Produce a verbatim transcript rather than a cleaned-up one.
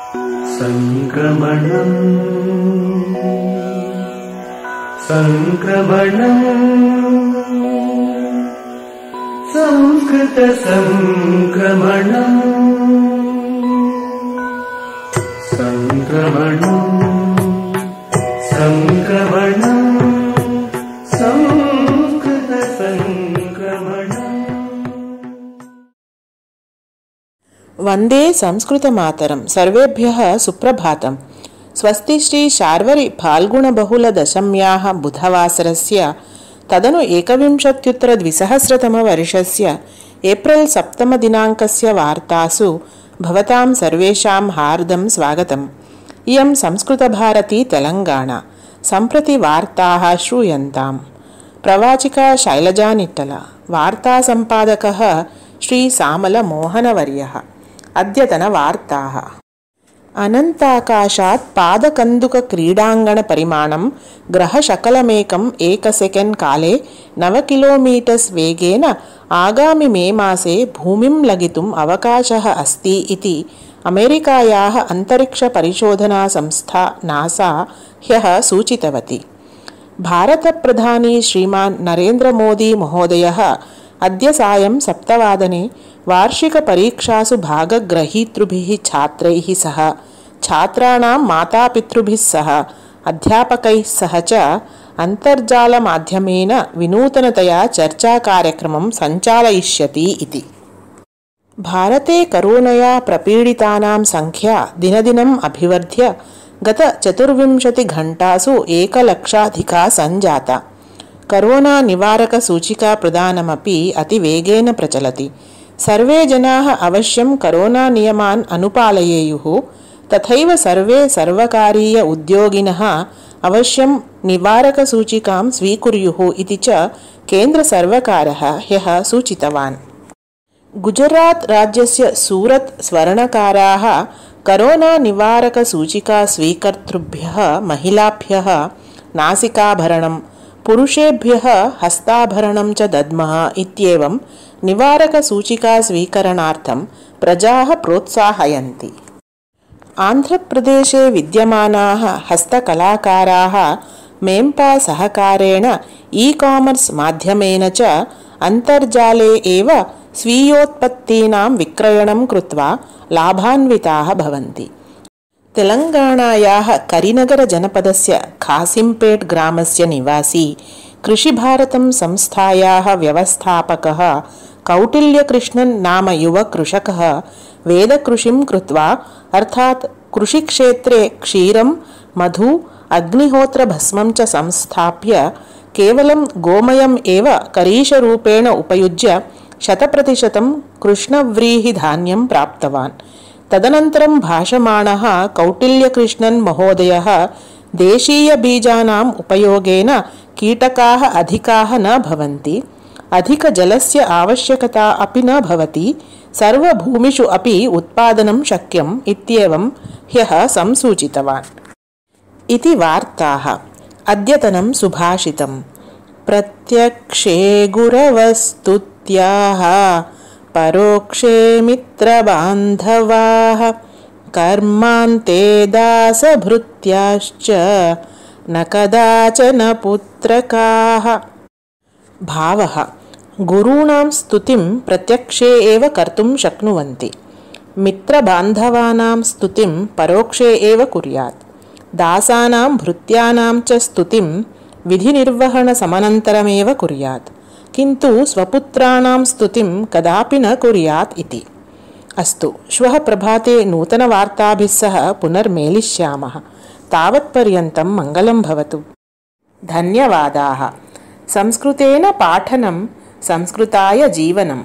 संक्रमणं संक्रमणं संस्कृत संक्रमणं संक्रमणं संक्रमणं संस्कृत संक्रमणं। वंदे संस्कृतमातरं। सर्वेभ्यः सुप्रभातम्। स्वस्ति श्री शार्वरि फाल्गुणबहुलदशम्याः बुधवासरस्य तदनु एकविंशत्युत्तरद्विसहस्रतमवर्षस्य एप्रिल् सप्तमदिनाङ्कस्य वार्तासु भवतां सर्वेषां हार्दं स्वागतम्। इयं संस्कृतभारती तेलङ्गाणा। सम्प्रति वार्ताः श्रूयन्ताम्। प्रवाचिका शैलजा निट्टल। वार्तासम्पादकः श्री सामलमोहनवर्यः। अद्यतनवार्ताः। अनन्ताकाशात् पादकन्दुकक्रीडाङ्गणपरिमाणं ग्रहशकलमेकम् एकसेकेण्ड् काले नव किलोमीटर्स् वेगेन आगामि मे मासे भूमिं लगितुम् अवकाशः अस्ति इति अमेरिकायाः अन्तरिक्षपरिशोधनासंस्था नासा ह्यः सूचितवती। भारतप्रधानी श्रीमान् नरेन्द्रमोदी महोदयः अद्य सायं सप्तवादने वार्षिकपरीक्षासु भागग्रहीतृभिः छात्रैः सह छात्राणां मातापितृभिः सह अध्यापकैः सह च अन्तर्जालमाध्यमेन विनूतनतया चर्चाकार्यक्रमं सञ्चालयिष्यति इति। भारते करोनया प्रपीडितानां संख्या दिनदिनम् अभिवर्ध्य गत चतुर्विंशतिघण्टासु एकलक्षाधिका सञ्जाता। करोना निवारक सूचिका प्रदानमपि अतिवेगेन प्रचलति। सर्वे जनाः अवश्यं करोना नियमान् अनुपालयेयुः। तथैव सर्वे सर्वकारीय उद्योगिनः अवश्यं निवारकसूचिकां स्वीकुर्युः इति च केन्द्रसर्वकारः ह्यः सूचितवान्। गुजरात् राज्यस्य सूरत् स्वर्णकाराः करोना निवारकसूचिका स्वीकर्तृभ्यः महिलाभ्यः नासिकाभरणं, पुरुषेभ्यः हस्ताभरणं च दद्मः इत्येवं निवारकसूचिका स्वीकरणार्थं प्रजाः प्रोत्साहयन्ति। आन्ध्रप्रदेशे विद्यमानाः हस्तकलाकाराः मेम्पा सहकारेण ई कामर्स् माध्यमेन च अन्तर्जाले एव स्वीयोत्पत्तीनां विक्रयणं कृत्वा लाभान्विताः भवन्ति। तेलङ्गाणायाः करिनगरजनपदस्य खासिंपेट् ग्रामस्य निवासी कृषिभारतं संस्थायाः व्यवस्थापकः कौटिल्यकृष्णन् नाम युवकृषकः वेदकृषिं कृत्वा अर्थात् कृषिक्षेत्रे क्षीरं, मधु, अग्निहोत्रभस्मं च संस्थाप्य केवलं गोमयम् एव करीशरूपेण उपयुज्य शतप्रतिशतं कृष्णव्रीहिधान्यं प्राप्तवान्। तदनन्तरं भाषमाणः कौटिल्यकृष्णन् महोदयः देशीयबीजानाम् उपयोगेन कीटकाः अधिकाः न भवन्ति, अधिकजलस्य आवश्यकता अपि न भवति, सर्वभूमिषु अपि उत्पादनं शक्यम् इत्येवं ह्यः संसूचितवान् इति वार्ताः। अद्यतनं सुभाषितम्। प्रत्यक्षे गुरवस्तुत्याः परोक्षे मित्रबान्धवाः कर्मान्ते दासभृत्याश्च न कदाचन पुत्रकाः। भावः। गुरूणां स्तुतिं प्रत्यक्षे एव कर्तुं शक्नुवन्ति। मित्रबान्धवानां स्तुतिं परोक्षे एव कुर्यात्। दासानां भृत्यानां च स्तुतिं विधिनिर्वहणसमनन्तरमेव कुर्यात्, किन्तु स्वपुत्राणां स्तुतिं कदापि न कुर्यात् इति। अस्तु, श्वः प्रभाते नूतनवार्ताभिः सह पुनर्मेलिष्यामः। तावत्पर्यन्तं मङ्गलं भवतु। धन्यवादाः। संस्कृतेन पाठनं संस्कृताय जीवनम्।